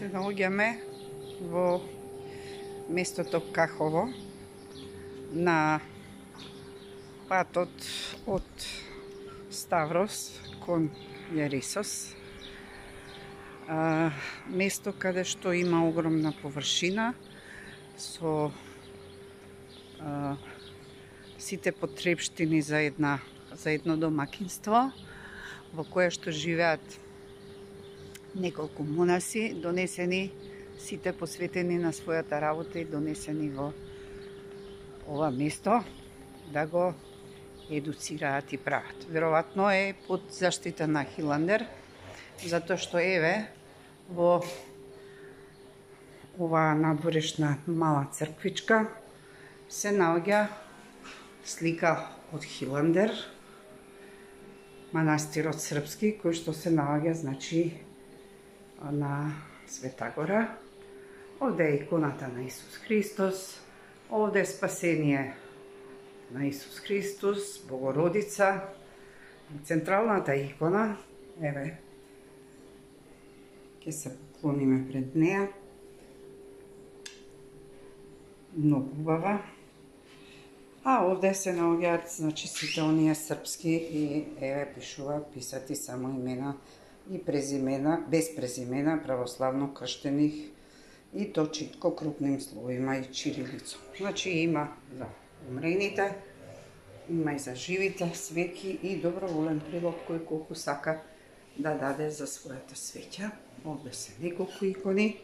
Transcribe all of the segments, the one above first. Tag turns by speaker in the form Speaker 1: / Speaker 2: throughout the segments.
Speaker 1: се наоѓаме во местото Кахово на патот од Ставрос кон Јарисос. Место каде што има огромна површина со сите потребштини за едно домакинство, во кое што живеат неколку монаси, донесени сите посветени на својата работа и донесени во ова место да го едуцираат и прават. Веројатно е под заштита на Хиландер, затоа што еве во оваа надворешна мала црквичка се наоѓа слика од Хиландер, манастирот српски, кој што се наоѓа, значи, на Света Гора. Овде е иконата на Исус Христос, овде е спасение на Исус Христос, Богородица, централната икона, еве, ќе се поклониме пред неа. Многу убава. А овде се наоѓаат, значи, сите оние српски и еве пишува писати само имена и презимена, без презимена, православно крштених и то читко крупним словима и чирилицо. Значи има за умрените, има и за живите свеќи и доброволен прилог кој колку сака да даде за својата свеќа. Овде се неколку икони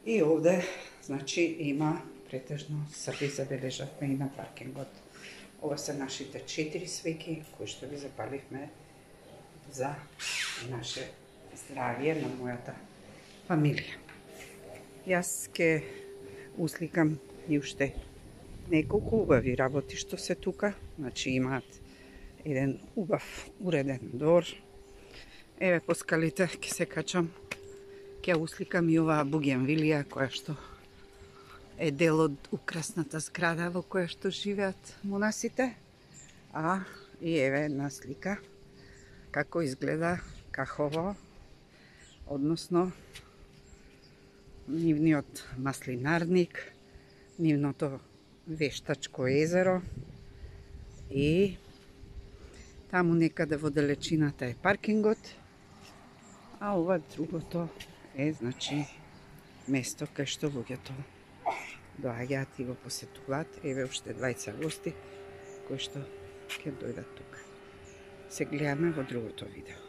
Speaker 1: и овде, значи, има претежно Срби, забележавме и на паркингот. Ова се нашите 4 свеќи кои што ги запаливме за наше здравје на мојата фамилија. Јас ке усликам и уште неколку убави работи што се тука, значи имаат еден убав уреден двор. Еве по скалите ќе се качам, ќе усликам и оваа бугенвилија која што е дел од украсната зграда во која што живеат монасите. А и еве една слика како изгледа Кахово, односно нивниот маслинарник, нивното вештачко езеро и таму некаде во далечината е паркингот, а ова другото е, значи, место кај што луѓето доаѓаат и го посетуваат. Еве уште 20 гости кои што ќе дојдат тука. Се гледаме во другото видео.